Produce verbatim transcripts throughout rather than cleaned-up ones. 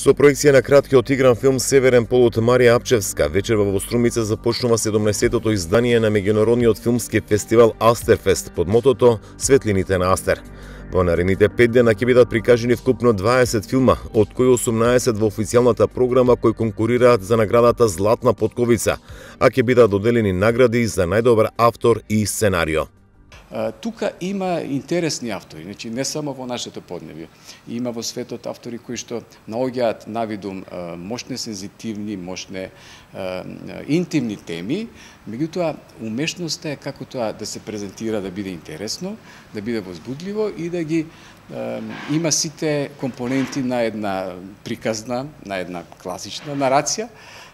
Со проекција на краткиот игран филм Северен полут Марија Апчевска, вечерва во Струмица започнува седумнаесеттото издание на меѓународниот филмски фестивал Астерфест под мотото Светлините на Астер. Во наредните пет дена ќе бидат прикажени вкупно дваесет филма, од кои осумнаесет во официјалната програма кои конкурираат за наградата Златна потковица, а ќе бидат доделени награди за најдобар автор и сценарио. Тука има интересни автори, значи не само во нашето поднебје. Има во светот автори кои што наоѓаат навидум мощне сензитивни, мощне интимни теми, меѓутоа умешноста е како тоа да се презентира, да биде интересно, да биде возбудливо и да ги има сите компоненти на една приказна, на една класична нарација,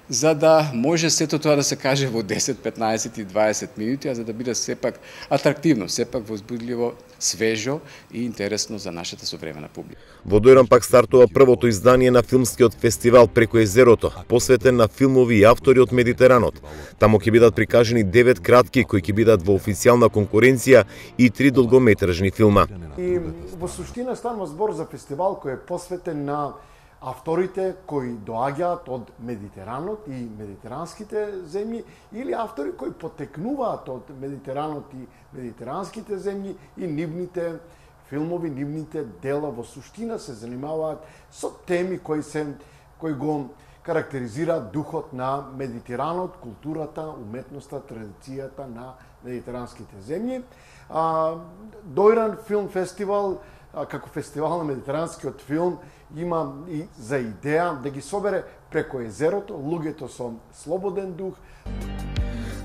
за да може сето тоа да се каже во десет, петнаесет и дваесет минути, а за да биде сепак атрактивно, сепак возбудливо, свежо и интересно за нашата современа публика. Во Дојран пак стартува првото издание на филмскиот фестивал Преку езерото, посветен на филмови и автори од Медитеранот. Таму ќе бидат прикажени девет кратки кои ќе бидат во официјална конкуренција и три долгометражни филма. И во суштина станува збор за фестивал кој е посветен на авторите кои доаѓаат од Медитеранот и медитеранските земји или автори кои потекнуваат од Медитеранот и медитеранските земји и нивните филмови, нивните дела во суштина се занимаваат со теми кои се кои го карактеризираат духот на Медитеранот, културата, уметноста, традицијата на медитеранските земји. Дојран филм фестивал како фестивал на медитеранскиот филм има и за идеја да ги собере преку езерото луѓето со слободен дух.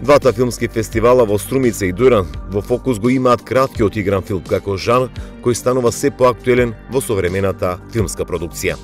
Двата филмски фестивала во Струмица и Дојран во фокус го имаат краткиот игран филм како жанр кој станува се поактуелен во современата филмска продукција.